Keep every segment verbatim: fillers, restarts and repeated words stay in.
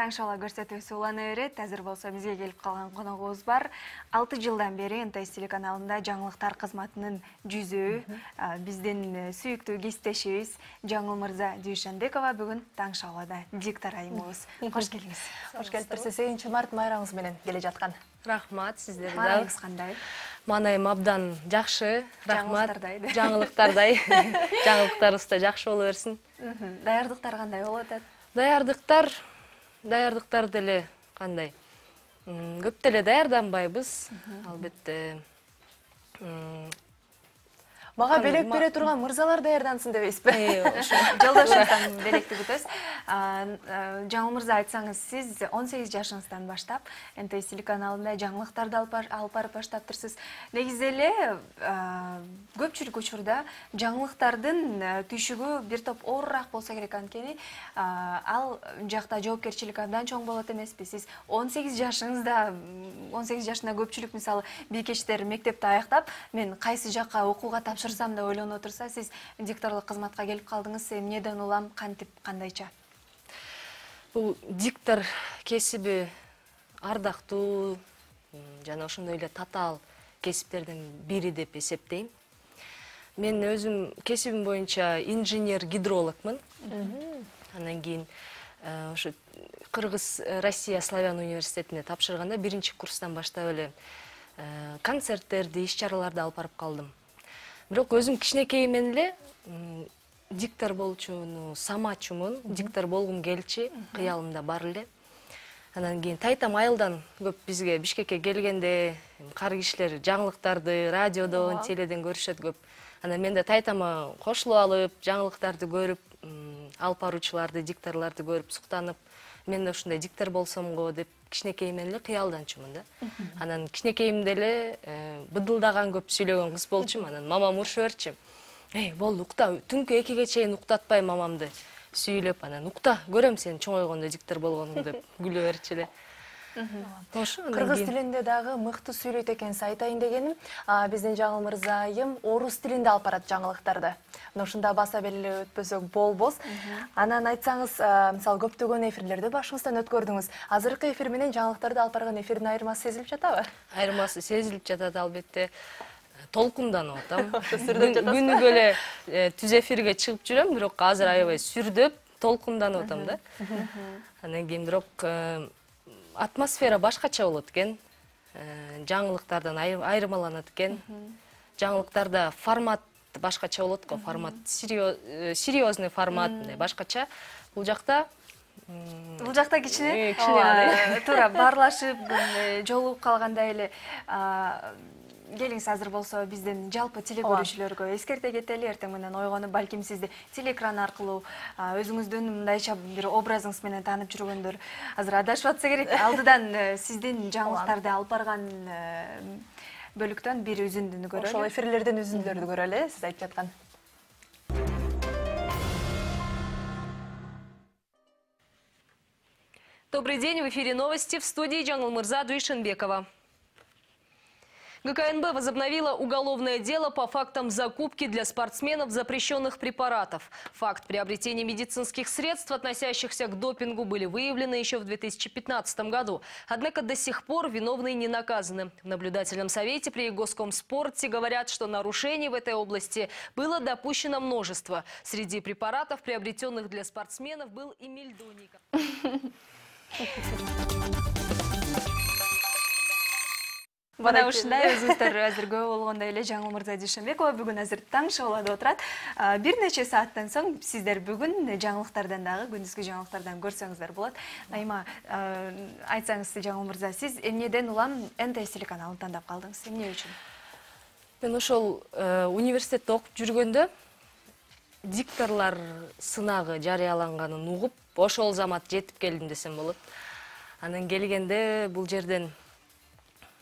Таң шоу көрсөтүүсү улана берет. Азыр болсо бизге келип калган коногубуз бар. алты жылдан бери эн тэ эс телеканалында жаңылыктар кызматынын жүзөө, биздин сүйүктүү кесиптешибиз Жаңыл мырза Дүйшөнбекова бүгүн таң шоуда диктор айымыбыз. Кош келиңиз. Кош келипсиз. сегизинчи март майрамыңыз менен келе жаткан. Рахмат сиздерге. Маанайыңыз кандай? Маанайым абдан жакшы. Рахмат. Жаңылыктардай. Жаңылыктардай. Жаңылыктарыбыз да жакшы боло берсин. Даярдыктар кандай болуп атат? Даярдыктар, даярдыктар деле кандай? Көп деле даярданбайбыз, албетте. Мага белек бере турган мырзалар даярдансын дебейсизби? Жолдошуңуздан белекти күтөбүз. Жаңыл мырза, айтсаңыз, сиз он сегиз жашыңыздан баштап эн тэ эс телеканалында жаңылыктарды алып барып баштаптырсыз. Негизи эле көпчүлүк учурда жаңылыктардын түйшүгү бир топ оорураак болсо керек, анткени ал жакта жоопкерчилик абдан чоң болот эмеспи? Сиз он сегиз жашыңызда, он сегиз жашында көпчүлүк мисалы бийкештер мектепти аяктап, мен кайсы жакка окууга тапшырсам деп ойлонуп отурса, сиз дикторлук кызматка келип калдыңыз. Эмнеден улам, кантип, кандайча? Бул диктор кесиби ардактуу жана ошондой эле татаал кесиптердин бири деп эсептейм. Мен өзүм кесибим боюнча инженер-гидрологмун. Андан кийин ошо Кыргыз Россия Славян университетине тапшырганда биринчи курстан баштап эле концерттерди, иш-чараларды алып барып калдым. Бирок өзүм кичинекейимден эле диктор болчуну самачумун, диктор болгум келчи, кыялымда бар эле. Анан кийин тайтам айылдан көп бизге Бишкекке келгенде кар кишилер жаңылыктарды радиодон, теледен көрүшөт көп. Анан мен да тайтама кошулуп алып, жаңылыктарды көрүп, алып баруучуларды, дикторлорду көрүп суктанып, мен да ушундай диктор болсом го деп кичинекейимден эле кыялданчумун да. Анан кичинекейимде эле быдылдаган көп сүйлөгөн кыз болчумун. Анан мамам урушуп берчү. Эй, болду, укта, түнкү экиге чейин уктатпай мамамды сүйлөп, анан укта, көрөм сен чоңойгондо диктор болгонуңду деп күлө берчү эле. Кыргыз тилинде дагы мыкты сүйлөйт экенсиз, айтайын дегеним, биздин Жаңыл мырзайым орус тилинде алып барат жаңылыктарды. Мына ушунда баса белгилеп өтпөсөк болбос. Анан айтсаңыз, мисалы көптөгөн эфирлерди башыңыздан өткөрдүңүз. Азыркы эфир менен жаңылыктарды алып барган эфирдин айырмасы сезилип жатабы? Айырмасы сезилип жатат, албетте. Толкунданып атам. Күнүгө эле түз эфирге чыгып жүрөм, бирок азыр аябай сүрдөп, толкунданып атам да. Андан кийин бирок атмосфера башкача болот экен. Жаңылыктардан айырмаланат экен. Жаңылыктарда формат башкача болот го, формат серьезный формат, башкача. Бул жакта Бул жакта кичине туура баарлашып, жолугуп калгандай эле. Келиңиз, азыр болсо биздин жалпы теле көрүүчүлөргө эскерте кетели. Эртең менен ойгонуп, балким сизди телеэкран аркылуу өзүңүздүн мындайча бир образыңыз менен таанып жүргөндөр азыр адашып атса керек. Алдыдан сиздин жаңылыктарды алып барган бөлүктөн бир үзүндүнү көрөлү. Ошол эфирлерден үзүндүлөрдү көрөлү, сиз айтып жаткан. Добрый день, в эфире новости, в студии Жаңыл мырза Дүйшөнбекова. гэ ка эн бэ возобновила уголовное дело по фактам закупки для спортсменов запрещенных препаратов. Факт приобретения медицинских средств, относящихся к допингу, были выявлены еще в две тысячи пятнадцатом году. Однако до сих пор виновные не наказаны. В наблюдательном совете при Госкомспорте говорят, что нарушений в этой области было допущено множество. Среди препаратов, приобретенных для спортсменов, был и мельдоний. Бана ушундай өзүңүздөр азыр көп болгондой эле Жаңыл мырза Дүйшөнбекова бүгүн азыр таң шоуда отурат. Бир нече сааттан соң сиздер бүгүн жаңылыктардан дагы, күндүзгү жаңылыктардан көрсөңүздөр болот. Айма, айтсаңыз, Жаңыл мырза, сиз эмнеден улам эн тэ эс телеканалын тандап калдыңыз? Эмне үчүн? Мен ошол университетте окуп жүргөндө дикторлор сынагы жарыяланганын угуп, ошол замат жетип келдим десем болот. Анан келгенде бул жерден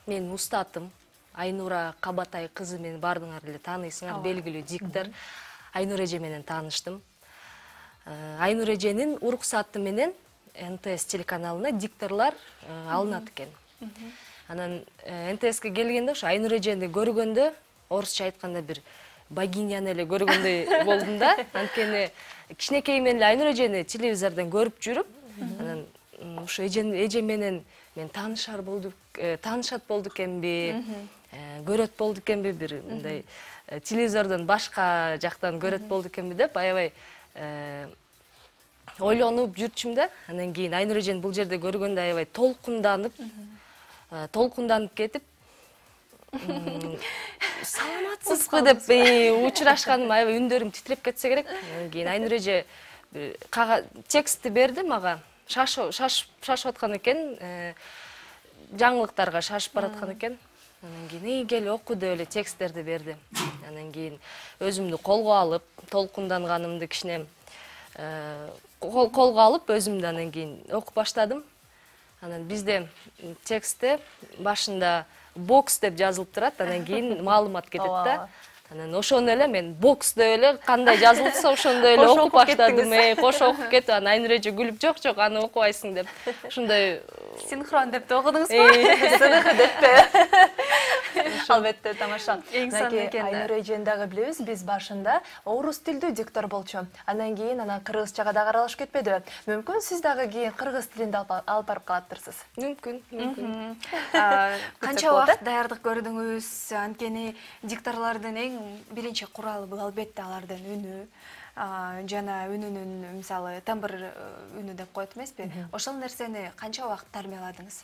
мен устатым, Айнура Кабатай кызы, мен бардыңар эле тааныйсыңар, белгилүү диктор. Айнура эже менен тааныштым. Айнура эженин уруксаты менен эн тэ эс телеканалына дикторлор алынат экен. Анан эн тэ эске келгенде ошо Айнура эжени көргөндө, орусча айтканда бир богиняны эле көргөндөй болдум да. Анткени кичинекейимден эле Айнура эжени телевизордон көрүп жүрүп, анан ушу эжем менен мен таанышар болдук, таанышат болду экенби, көрөт болду экенби, бир мындай телевизордон башка жактан көрөт болду экенби деп аябай ойлонуп жүрчүм да. Андан кийин Айнур эжени бул жерде көргөндө аябай толкунданып, толкунданып кетип, саламатсызбы деп учурашканым аябай үндөрүм титиреп кетсе керек. Андан кийин Айнур эже текстти берди мага. Шашып аткан экен, жаңылыктарга шашып бараткан экен. Анан кийин кел оку деп эле тексттерди берди. Анан кийин өзүмдү колго алып, толкунданганымды кичине колго алып, өзүмдү анан кийин окуп баштадым. Анан бизде текстте башында бокс деп жазылып турат, анан кийин маалымат кетет да. Анан ошону эле мен бокс деп эле кандай жазылса ошондой эле окуп баштадым. Кошо окуп кетип, анан Айнур эже күлүп, жок жок, аны окубайсың деп. Ошондой синхрон деп окудуңузбу? Сыныгы деппи? Албетте, тамаша. Эң сонун экен. Айнур эжени дагы билебиз, биз башында орус тилдүү диктор болчу. Андан кийин анан кыргызчага дагы аралашып кетпедиби? Мүмкүн сиз дагы кийин кыргыз тилинде алып барып калаттырсыз. Мүмкүн, мүмкүн. Канча убакыт даярдык көрдүңүз? Анткени дикторлордун эң биринчи куралы бул албетте алардын үнү. Жана үнүнүн мисалы тембр үнү деп коет эмеспи? Ошол нерсени канча убакыт тарбияладыңыз?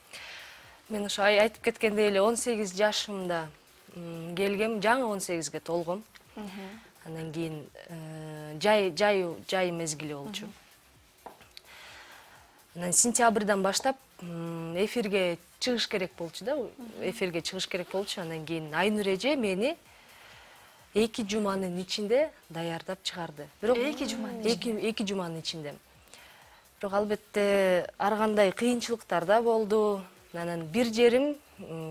Мен ошо айтып кеткендей эле он сегиз жашымда келгем, жаңы он сегизге толгом. Андан кийин жай жай жай мезгили болчу. Анан сентябрдан баштап эфирге чыгыш керек болчу да, эфирге чыгыш керек болчу. Андан кийин Айнур эже мени эки жуманын ичинде даярдап чыгарды. Бирок эки жуманын эки жуманын ичинде. Бирок албетте ар кандай кыйынчылыктар да болду. Анан бир жерим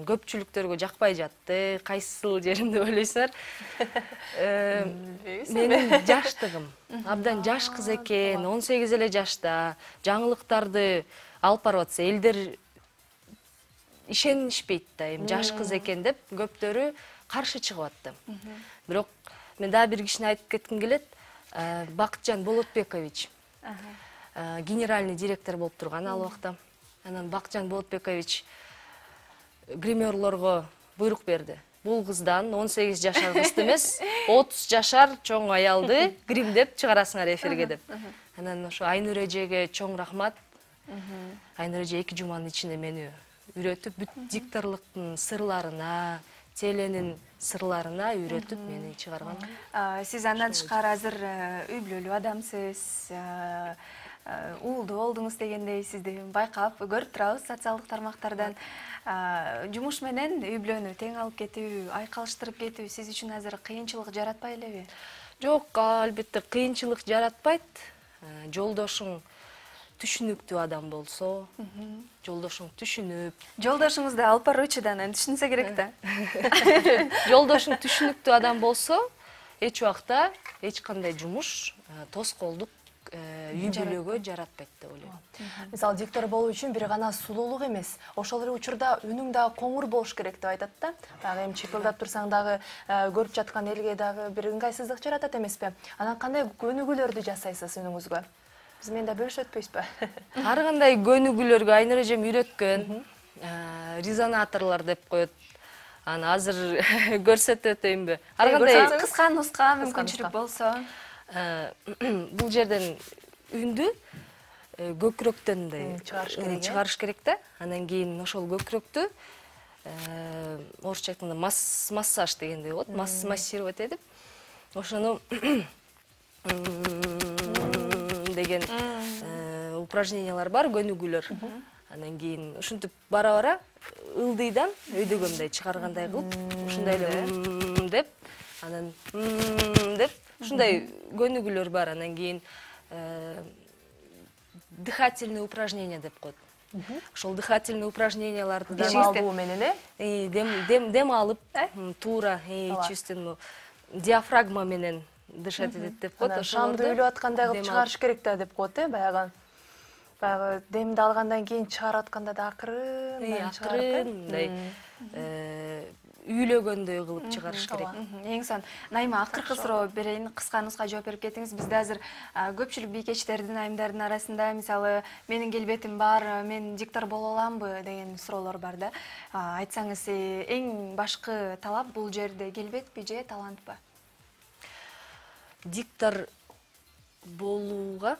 көпчүлүктөргө жакпай жатты. Кайсыл жерим деп ойлойсуңар? Менин жаштыгым. Абдан жаш кыз экен, он сегиз эле жашта. Жаңылыктарды алып барып атса, элдер ишенишпейт да, эми жаш кыз экен деп көптөрү каршы чыгып атты. Бирок мен дагы бир кишини айтып кетким келет. Бакытжан Болотбекович генеральный директор болуп турган ал убакта. Анан Бакытжан Болотбекович гримерлорго буйрук берди. Бул кыздан он сегиз жашар кызды эмес, отуз жашар чоң аялды гримдеп чыгарасыңар эфирге деп. Анан ошо Айнур эжеге чоң рахмат. Айнур эже эки жуманын ичинде мени үйрөтүп, бүт дикторлуктун сырларына, теленин сырларына үйрөтүп мени чыгарган. Сиз андан тышкары азыр үй бүлөлүү адамсыз, уулдуу болдуңуз дегендей сизди байкап көрүп турабыз социалдык тармактардан. Жумуш менен үй бүлөнү тең алып кетүү, айкалыштырып кетүү сиз үчүн азыр кыйынчылык жаратпай элеби? Жок, албетте кыйынчылык жаратпайт. Жолдошуң түшүнүктүү адам болсо, жолдошуң түшүнүп, жолдошуңузду алып баруучудан түшүнсө керек да. Жолдошуң түшүнүктүү адам болсо, эч убакта эч кандай жумуш тоскоолдук үй бүлөгө жаратпайт деп ойлойм. Мисалы диктор болуу үчүн бир гана сулуулук эмес, ошол эле учурда үнүң дагы коңур болуш керек деп айтат да. Дагы эми чыпылдап турсаң дагы көрүп жаткан элге дагы бир ыңгайсыздык жаратат эмеспи? Анан кандай көнүгүүлөрдү жасайсыз үнүңүзгө? Биз менен да бөлүшөт өтпөйсүзбү? Ар кандай көнүгүүлөргө Айнур эжем үйрөткөн. Резонаторлор деп коет. Аны азыр көрсөтүп өтөйүнбү? Ар кандай кыска нуска мүмкүнчүлүк болсо. Бул жерден үндү көкүрөктөн чыгарыш керек да. Анан кийин ошол көкүрөктү орусча айтканда массаж дегендей болот, массировать этип, ошону деген упражнениялар бар, көнүгүүлөр. Анан кийин ушинтип бара-бара ылдыйдан өйдөгө мындай чыгаргандай кылып, ушундай эле деп, анан деп ушундай көнүгүүлөр бар. Анан кийин дыхательный упражнение деп коет. Ошол дыхательный упражненияларды дем алуу менен, э? Дем дем алып, туура чистин диафрагма менен дышать этет деп коет. Шамды үйлөп аткандай кылып чыгарыш керек да деп коет, э? Баягы баягы демди алгандан кийин чыгарып атканда да акырын, акырын, мындай үйлөгөндөй кылып чыгарыш керек. Эң son Найма акыркы суроо берейин, кыска нуска жооп берип кетиңиз. Бизде азыр көпчүлүк бийкечтердин, айымдардын арасында мисалы менин келбетим бар, мен диктор боло аламбы деген суроолор бар да. Айтсаңыз, эң башкы талап бул жерде келбетпи же талантпы? Диктор болууга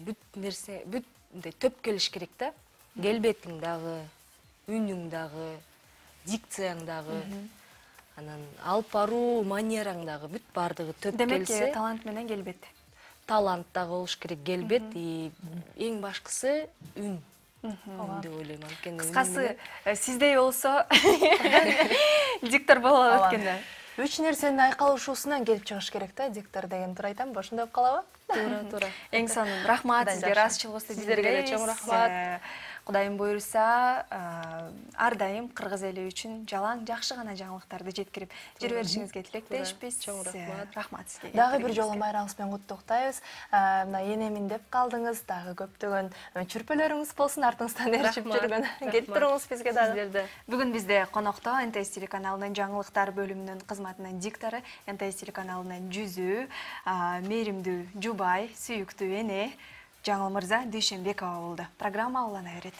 бүт нерсе, бүт төп келиш керек да. Келбетиң дагы, үнүң дагы, дикцияң дагы, анан алып баруу манераң дагы бүт бардыгы төп келсе. Демек, талант менен келбет. Талант дагы болуш керек, келбет, эң башкысы үн. Үн деп ойлойм. Кыскасы, сиздей болсо диктор боло алат экен да. Үч нерсенин айкалышуусунан келип чыгыш керек да, диктор деген туура айтам, ошондой болуп калабы? Туура, туура. Эң сонун рахмат сизге, ыраазычылыгыңызды сиздерге чоң рахмат. Кудайым буйруса, ар дайым кыргыз эли үчүн жалаң жакшы гана жаңылыктарды жеткирип жүрө беришиңизге тилектешпиз. Чоң рахмат. Рахмат сизге. Дагы бир жолу майрамыңыз менен куттуктайбыз. Мына энемин деп калдыңыз, дагы көптөгөн чүрпөлөрүңүз болсун, артыңыздан эрчип жүргөн. Келип туруңуз бизге дагы. Бүгүн бизде конокто эн тэ эс телеканалынын жаңылыктар бөлүмүнүн кызматынын диктору, эн тэ эс телеканалынын жүзү, мээримдүү жубай, сүйүктүү эне Жаңыл Мырза Дүйшөнбекова болду. Программа улана берет.